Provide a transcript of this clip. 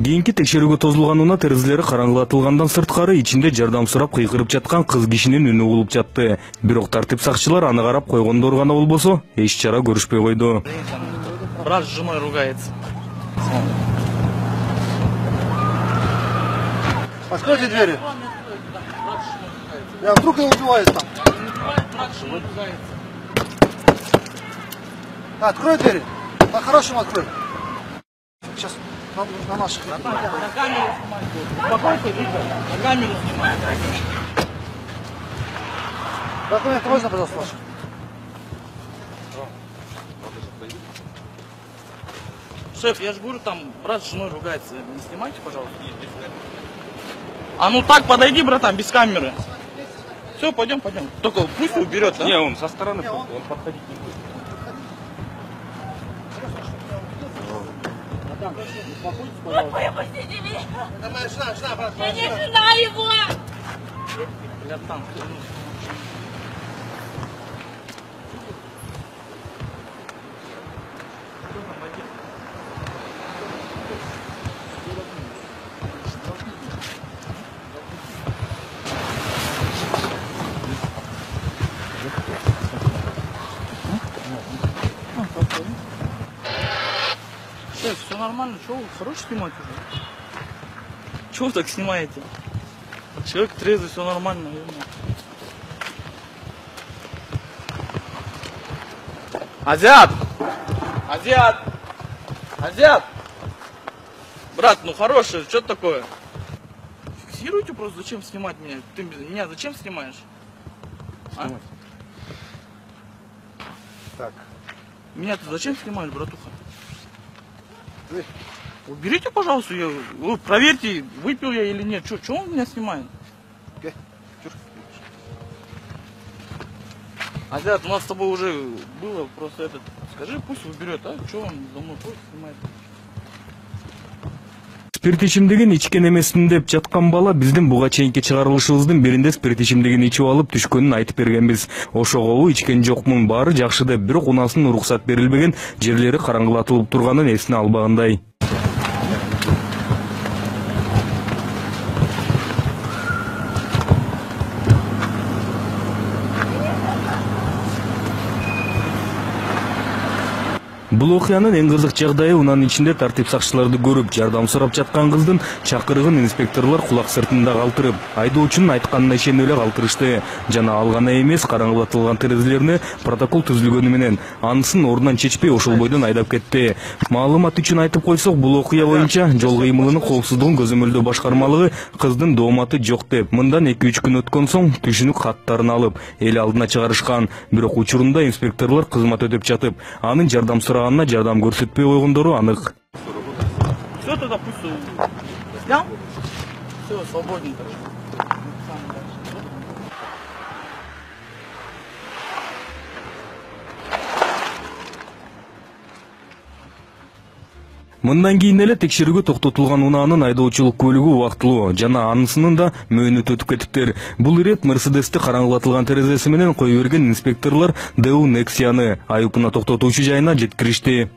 Кийинки текшерүүгө тозулган унаа терезелери караңгылатылгандан сырткары ичинде жардам сурап кыйкырып жаткан кыз кишинин үнү угулуп жатты. Бирок тартип сакчылар аны карап койгондор гана болбосо, эч чара көрүшпөй койду. Брат с женой ругается. Откройте двери. Я вдруг его убивает там. Открой двери. По-хорошему открой. Сейчас на наших. На камеру снимай. Успокойся, Виктор. На камеру снимай. Документы можно, пожалуйста, ваши? Шеф, я же говорю, там брат с женой ругается. Не снимайте, пожалуйста. А ну так подойди, братан, без камеры. Все, пойдем. Только пусть уберет, да? Не, он со стороны, он подходить не будет. Выпустите меня! Это моя жена, брат. Я не жена его! Братан, шеф, все нормально, что вы хорош снимать уже? Чего вы так снимаете? Человек трезвый, все нормально, наверное. Азиат! Брат, ну хороший, что такое? Фиксируйте просто, зачем снимать меня? Ты меня зачем снимаешь? А? Так. Меня ты зачем снимаешь, братуха? Уберите, пожалуйста, вы проверьте, выпил я или нет. Что он меня снимает? Азиат, у нас с тобой уже было просто этот. Скажи, пусть уберет, а? Что он за мной ходит, снимает? Спирт ичимдигин ичкен эмесмин деп жаткан бала биздин буга чейинки чыгарылышыбыздын биринде спирт ичимдигин ичип алып түшкөнүн айтып бергенбиз. Ошого ичкен жокмун, баары жакшы деп, бирок унаасынын уруксат берилбеген, жерлери караңгылатылып турганын эсине албагандай. Бул окуянын эң кызык жагдайы унаанын ичинде тартип сакчыларды көрүп, жардам сурап жаткан кыздын чакырыгын инспекторлор кулак сыртында калтырып, айдоочунун айтканына ишенип эле калтырышты. Жана ал гана эмес, караңгылатылган терезелерине протокол түзүлгөнү менен анысын ордунан чечпей ошол бойдон айдап кетти. Маалымат үчүн айтып койсок, бул окуя боюнча жол кыймылынын коопсуздугун көзөмөлдөө башкармалыгы кыздын дооматы жок деп, мындан 2-3 күн өткөн соң түшүнүк каттарын алып, эл алдына чыгарышкан. Бирок учурунда инспекторлор кызмат өтөп жатып, анын жардам сураганына жардам көрсөтпөй койгондору анык. Все, тогда пусть снял. Все, свободненько. Мындан кийин эле текшерүүгө токтотулган унаанын айдоочулук көлүгү убактылуу жана анысынын да мөөнөтү өтүп кетиптир. Бул ирет Мерседести караңгылатылган терезеси менен кое берген инспекторлор ДУ Нексияны айыпына токтотуучу жайына жеткиришти.